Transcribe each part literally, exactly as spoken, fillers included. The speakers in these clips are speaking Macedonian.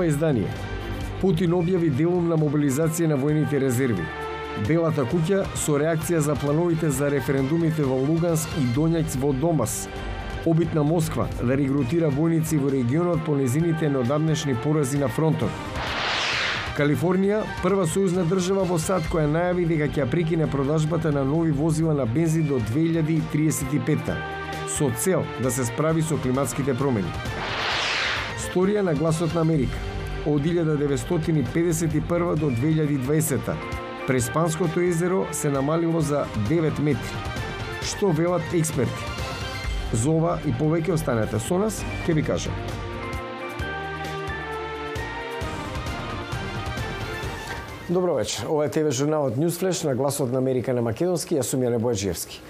ова издание. Путин објави делумна мобилизација на војните резерви. Белата куќа со реакција за плановите за референдумите во Луганск и Донјац во Донбас. Обид на Москва да регрутира војници во регионот по незините неодамнешни порази на фронтот. Калифорнија, прва сојузна држава во САД која најави дека ќе прекине продажбата на нови возила на бензин до две илјади триесет и петта, со цел да се справи со климатските промени. Сторија на гласот на Америка. Од илјада деветстотини педесет и прва до две илјади и дваесетта, Преспанското езеро се намалило за девет метри. Што велат експерти? За ова и повеќе останете со нас, ќе ви кажам. Добро вечер. Ова е ТВ журналот Newsflash на гласот на Америка на македонски, јас сум Јане Бојаджиевски.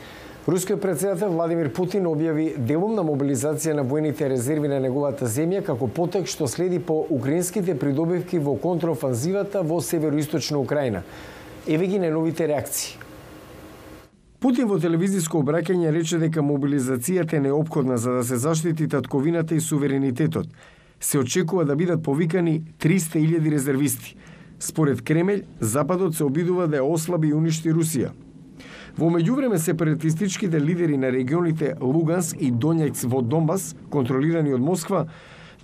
Рускиот претседател Владимир Путин објави делумна мобилизација на војните резерви на неговата земја како потек што следи по украинските придобивки во контраофанзивата во североисточна Украина. Еве ги најновите реакции. Путин во телевизиско обраќање рече дека мобилизацијата е неопходна за да се заштити татковината и суверенитетот. Се очекува да бидат повикани триста илјади резервисти. Според Кремљ, Западот се обидува да ја ослаби и уништи Русија. Во меѓувреме сепаратистичките лидери на регионите Луганск и Донјац во Донбас, контролирани од Москва,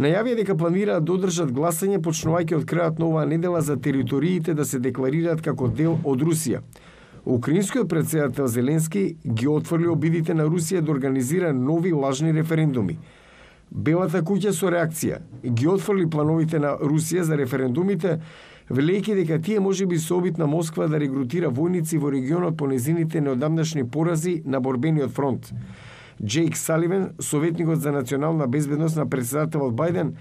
најавија дека планираат да одржат гласање почнувајќи од крајот на оваа недела за териториите да се декларираат како дел од Русија. Украинскиот претседател Зеленски ги отфрли обидите на Русија да организира нови лажни референдуми. Белата куќа со реакција ги отфрли плановите на Русија за референдумите, велејќи дека тие можеби се обид на Москва да регрутира војници во регионот по незините неодамнашни порази на борбениот фронт. Джейк Саливан, советникот за национална безбедност на претседателот Бајден,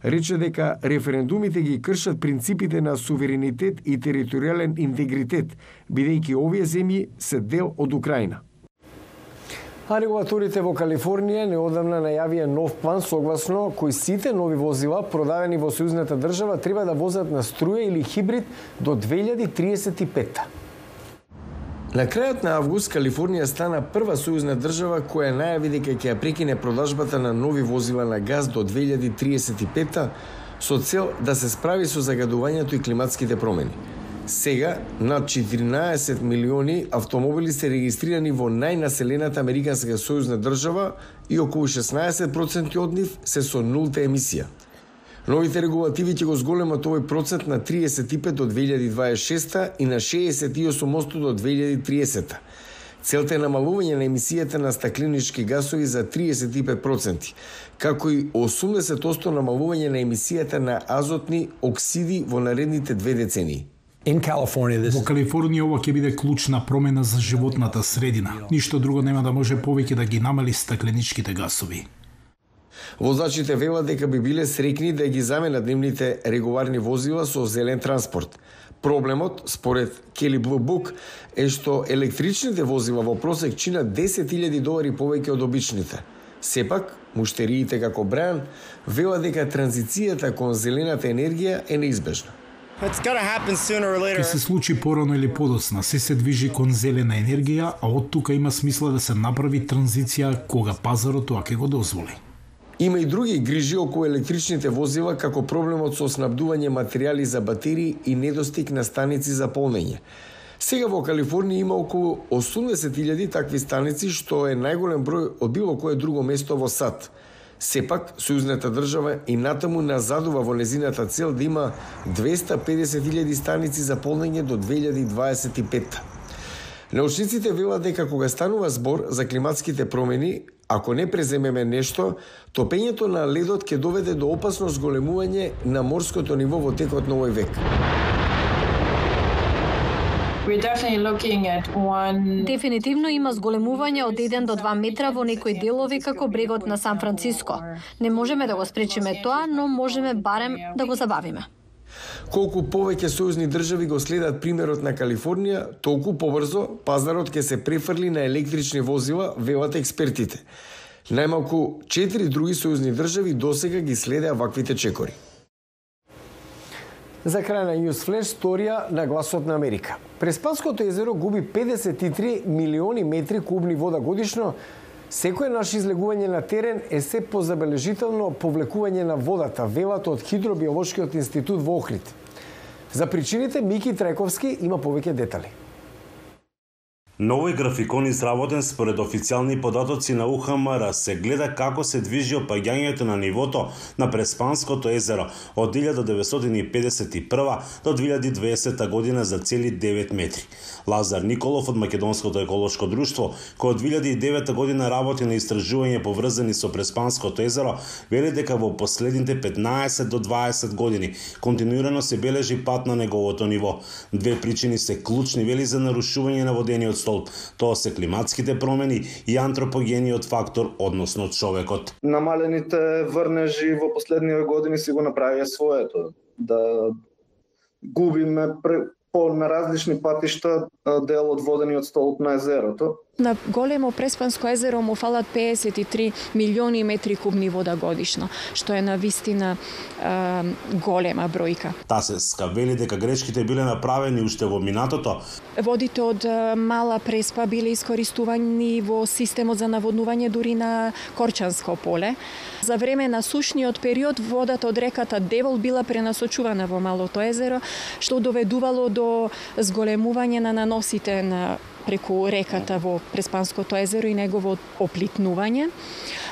рече дека референдумите ги кршат принципите на суверенитет и територијален интегритет, бидејќи овие земји се дел од Украина. А регулаторите во Калифорнија неодамна најавија нов план согласно кој сите нови возила продадени во сојузната држава треба да возат на струја или хибрид до две илјади триесет и петта. На крајот на август Калифорнија стана прва сојузна држава која најави дека ќе ја прекине продажбата на нови возила на газ до две илјади триесет и петта со цел да се справи со загадувањето и климатските промени. Сега, над четиринаесет милиони автомобили се регистрирани во најнаселената американска сојузна држава и околу шеснаесет проценти од нив се со нулта емисија. Новите регулативи ќе го зголемат овој процент на триесет и пет до две илјади дваесет и шеста и на шеесет и осум проценти до две илјади и триесетта. Целта е намалување на емисијата на стакленички гасови за триесет и пет проценти, како и осумдесет проценти намалување на емисијата на азотни оксиди во наредните две децении. Во Калифорнија ова ќе биде клучна промена за животната средина. Ништо друго нема да може повеќе да ги намали стакленичките гасови. Возачите велат дека би биле среќни да ги заменат нивните регуларни возила со зелен транспорт. Проблемот, според Кели Блу Бук, е што електричните возила во просек чинат десет илјади долари повеќе од обичните. Сепак, муштериите како Бран велат дека транзицијата кон зелената енергија е неизбежна. Ке се случи порано или подоцна, се се движи кон зелена енергија, а од тука има смисла да се направи транзиција кога пазарот тоа ќе го дозволи. Има и други грижи околу електричните возила, како проблемот со снабдување материјали за батерии и недостиг на станици за полнење. Сега во Калифорнија има околу осумдесет илјади такви станици, што е најголем број од било кое друго место во САД. Сепак, сојузната држава и натаму назадува во незината цел да има двеста и педесет илјади станици за полнење до две илјади дваесет и петта. Научниците велат дека кога станува збор за климатските промени, ако не преземеме нешто, топењето на ледот ќе доведе до опасно зголемување на морското ниво во текот на овој век. Дефинитивно има зголемување од еден до два метра во некои делови како брегот на Сан Франциско. Не можеме да го спречиме тоа, но можеме барем да го забавиме. Колку повеќе сојузни држави го следат примерот на Калифорнија, толку побрзо пазарот ќе се префрли на електрични возила, велат експертите. Најмалку четири други сојузни држави досега ги следеа ваквите чекори. За крај на Newsflash, сторија на гласот на Америка. Преспанското езеро губи педесет и три милиони метри кубни вода годишно, Секое наше излегување на терен е се позабележително повлекување на водата, велат од Хидробиолошкиот институт во Охрид. За причините Мики Трајковски има повеќе детали. Новој графикон изработен според официјални податоци на У Х М Р се гледа како се движи опаѓањето на нивото на Преспанското езеро од илјада деветстотини и педесет и прва до две илјади и дваесета година за цели девет метри. Лазар Николов од Македонското еколошко друштво, кој од две илјади и девета година работи на истражување поврзани со Преспанското езеро, вели дека во последните петнаесет до дваесет години континуирано се бележи пат на неговото ниво. Две причини се клучни, вели, за нарушување на водениот столб. Тоа се климатските промени и антропогениот фактор, односно човекот. Намалените врнежи во последниве години си го направија своето. Да губиме по на различни патишта дел од водениот столб на езерото. На големо Преспанско езеро му фалат педесет и три милиони метри кубни вода годишно, што е навистина е, голема бројка. Тасеска вели дека грешките биле направени уште во минатото. Водите од Мала Преспа биле искористувани во системот за наводнување дури на Корчанско поле. За време на сушниот период водата од реката Девол била пренасочувана во Малото езеро, што доведувало до зголемување на наносите на преку реката во Преспанското езеро и негово оплитнување.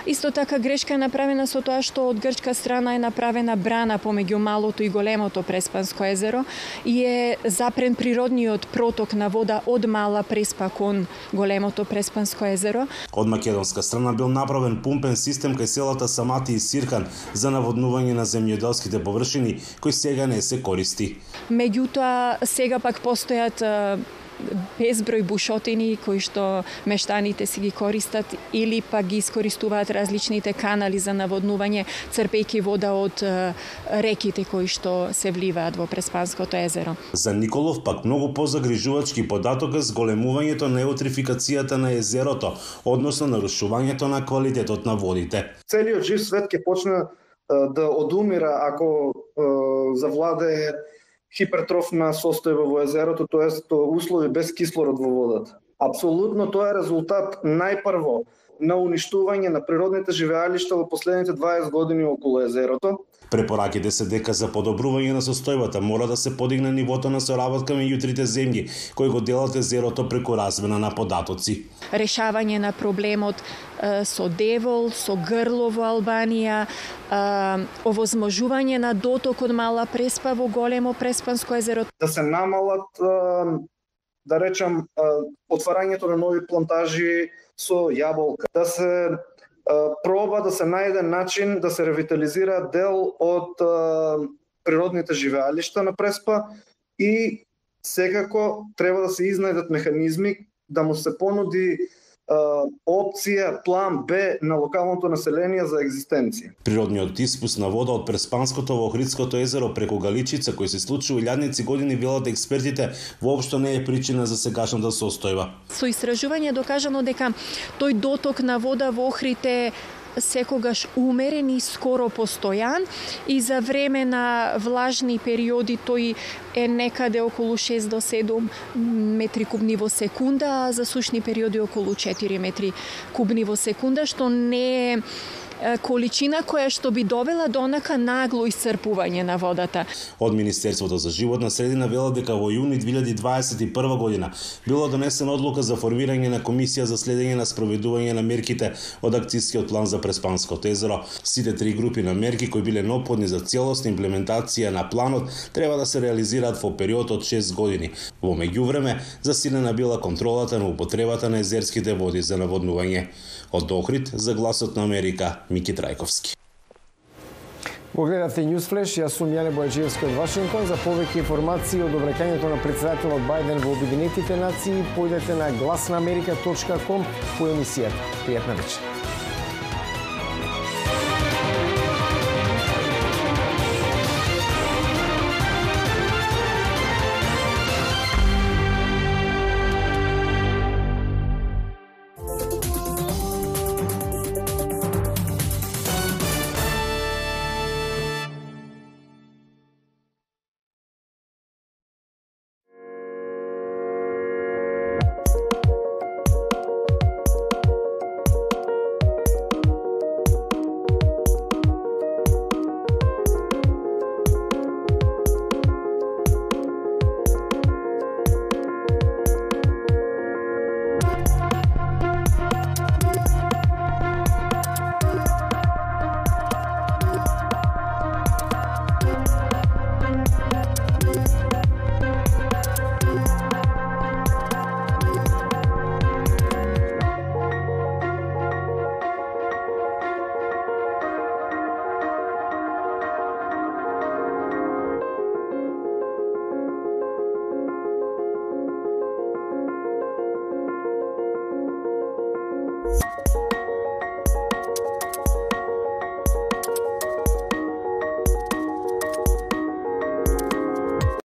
Исто така грешка е направена со тоа што од грчка страна е направена брана помеѓу малото и големото Преспанско езеро и е запрен природниот проток на вода од Мала Преспа кон големото Преспанско езеро. Од македонска страна бил направен пумпен систем кај селата Самати и Сиркан за наводнување на земјоделските површини, кој сега не се користи. Меѓутоа, сега пак постојат безброј бушотини кои што мештаните си ги користат или пак ги искористуваат различните канали за наводнување, црпејќи вода од реките кои што се вливаат во Преспанското езеро. За Николов пак многу позагрижувачки податок е зголемувањето на еутрификацијата на езерото, односно нарушувањето на квалитетот на водите. Целиот жив свет ќе почне да одумира ако завладее хипертрофна состојба во езерото, тоест услови без кислород во водата. Апсолутно тоа е резултат најпрво на уништување на природните живеалишта во последните дваесет години околу езерото. Препораките се дека за подобрување на состојбата мора да се подигне нивото на соработка меѓу трите земји кои го делат езерото преку размена на податоци. Решавање на проблемот е, со Девол, со Грло во Албанија, е, овозможување на доток од Мала Преспа во големо Преспанско езеро. Да се намалат, е, да речам, е, отварањето на нови плантажи со јаболка, да се проба да се најде начин да се ревитализира дел од е, природните живеалишта на Преспа и секако треба да се изнајдат механизми да му се понуди е, опција, план Б на локалното население за екзистенција. Природниот испуст на вода од Преспанското во Охридското езеро преку Галичица, кој се случи во илјадници години, велат експертите, воопшто не е причина за сегашната состојба. Со истражување докажано дека тој доток на вода во Охрид е секогаш умерен и скоро постојан и за време на влажни периоди тој е некаде околу шест до седум метри кубни во секунда, а за сушни периоди околу четири метри кубни во секунда, што не е количина која што би довела до онака нагло исцрпување на водата. Од Министерството за животна средина велат дека во јуни две илјади дваесет и прва година била донесена одлука за формирање на комисија за следење на спроведување на мерките од акцијскиот план за Преспанското езеро. Сите три групи на мерки кои биле неопходни за целосна имплементација на планот треба да се реализираат во период од шест години. Во меѓувреме засилена била контролата на употребата на езерските води за наводнување. Од Охрид за Гласот на Америка, Мики Трајковски. Го гледате Newsflash, јас сум Јане Бојаджиевски од Вашингтон. За повеќе информации од обраќањето на претседателот Бајден во Обединетите нации, појдете на глас на америка точка ком по емисијата. Пријатна вечер.